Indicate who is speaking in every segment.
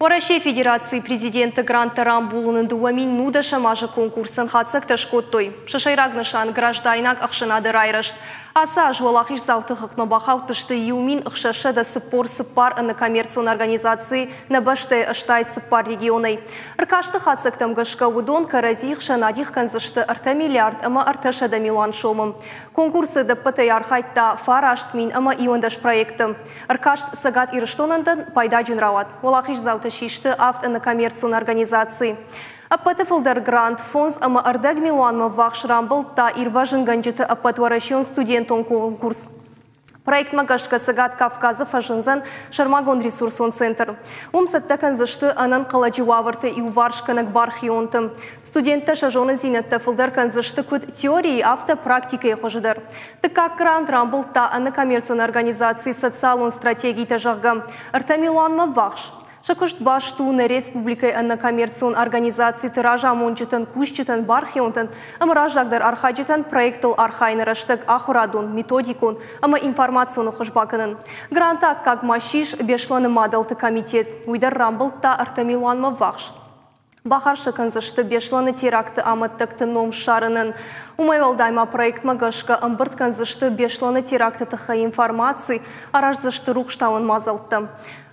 Speaker 1: Уӕрӕсейы Федерацийы Президенты гранттӕ рамбулыны 2019 азы конкурсӕн хатдзӕгтӕ скодтой. Сӕ сӕйраг нысан граждайнаг ӕхсӕнады райрӕзт. Ацы аз уӕлахиздзауты хыгъдмӕ бахаудтысты 1644 ӕнӕкоммерцион организацийы нӕ бӕстӕйы 84 регионӕй. Ӕркасты хатдзӕгтӕм гӕсгӕ уыдон кӕрӕдзи хсӕн адих кӕндзысты 3 миллиард ӕмӕ 300 милуан сомы. Конкурсы ӕдӕппӕтӕй архайдта 9011 проекты. Ӕркаст Цӕгат Ирыстонӕн дӕр пайдаджын рауад. Уӕлахиздзаутӕ систы авд ӕнӕкоммерцион организацийы. Ӕппӕты фылдӕр грант 5,5 милуанмӕ ввахс рамбылдта ирвӕзынгӕнджыты ӕппӕтуӕрӕсеон студентон конкурс. Проектмӕ гӕсгӕ Цӕгат Кавказы фӕзындзӕн сӕрмагонд ресурсон центр. Уым цӕттӕ кӕндзысты ӕнӕнхъӕлӕджы уавӕрты иуварсгӕнӕг бархионты. Студенттӕ сӕ зонындзинӕдтӕ фылдӕр кӕндзысты куыд теорийы, афтӕ практикӕйы хуызы дӕр. Дыккаг грант рамбылдта ӕнӕкоммерцион организаци «Социалон стратегитӕ», зӕгъгӕ, 3 милуанмӕ ввахс. Сӕ куыст баст у нӕ республикӕйы ӕнӕкоммерцион организациты разамонджытӕн, кусджытӕн, бархионтӕн ӕмӕ раззагдӕр архайджытӕн проектыл архайыны рӕстӕг ахуырадон, методикон ӕмӕ информацион ӕххуыс бакӕнын. Гранты аккаг ма ссис Беслӕны мадӕлты комитет. Уый дӕр рамбылдта 3 милуанмӕ ввахс. Бахарс кӕндзысты Беслӕны теракты амӕттӕгты ном ссарынӕн. Уымӕй уӕлдай ма проектмӕ гӕсгӕ ӕмбырд кӕндзысты Беслӕны теракты тыххӕй информаци, араздзысты рухстауӕн мадзӕлттӕ.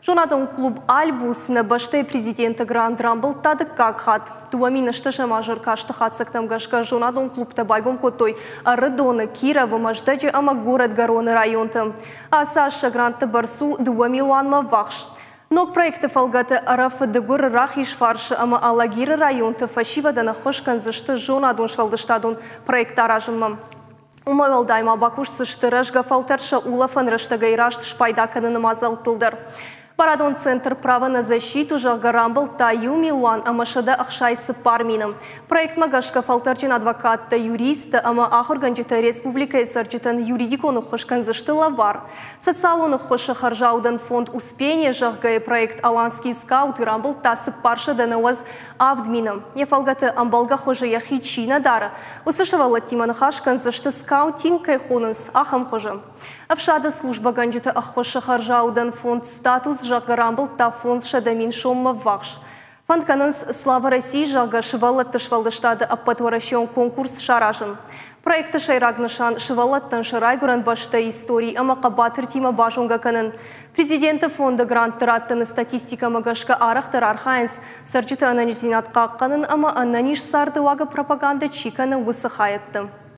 Speaker 1: Зонадон клуб «Альбус» нӕ бӕстӕйы президенты грант рамбылдта дыккаг хатт. 2008 азы ӕркасты хатдзӕгтӕм гӕсгӕ зонадон клубтӕ байгом кодтой Ӕрыдоны, Кировы, Мӕздӕджы ӕмӕ Горӕтгӕроны районты. Ацы аз сӕ грантты бӕрц у 2 милуанмӕ ввахс. Ног проекты фӕлгӕты Ӕрӕфы, Дыгуры, Рахизфарсы ӕмӕ Алагиры районты фӕсивӕдӕн ӕххуыс кӕндзысты зонадон-сфӕлдыстадон проекттӕ аразынмӕ. Уымӕй уӕлдай ма бакусдзысты рӕзгӕ фӕлтӕр сӕ улӕфӕн рӕстӕгӕй раст спайда кӕныны мадзӕлттыл дӕр. Барадон центр «Право на защиту», зӕгъгӕ, рамбылдта 1 164 000. Проектмӕ гӕсгӕ фӕлтӕрджын адвокаттӕ, юристтӕ ӕмӕ ахуыргӕнджытӕ республикӕйы цӕрджытӕн юридикон ӕххуыс кӕндзысты лӕвар. Социалон ӕххуысы хӕрзаудӕн фонд «Успение», зӕгъгӕ, проект «Аланский скаут» рамбылдта 497 000. Йӕ фӕлгӕты ӕмбӕлгӕ хуызы йӕхи чи нӕ дары, уыцы сывӕллӕттимӕ ныхас кӕндзысты скаутинг кӕй хонынц, ахӕм хуызы. Ӕфсады службӕгӕнджыты ӕххуысы хӕрзаудӕн фонд «Статус», зӕгъгӕ, рамбылдта 500 000 соммӕ ввахс. Фӕнд кӕнынц «Слава России», зӕгъгӕ, сывӕллӕтты сфӕлдыстады ӕппӕтуӕрӕсеон конкурс саразын. Проекты сӕйраг нысан сывӕллӕттӕн сӕ райгуырӕн бӕстӕйы истори ӕмӕ хъӕбатыртимӕ базонгӕ кӕнын. Президенты фонды грантты раттыны статистикӕмӕ гӕсгӕ арӕхдӕр архайынц цӕрджыты ӕнӕниздзинад хъахъхъӕнын ӕмӕ ӕнӕниз царды уагы пропагандӕ чи кӕны, уыцы хайӕдты.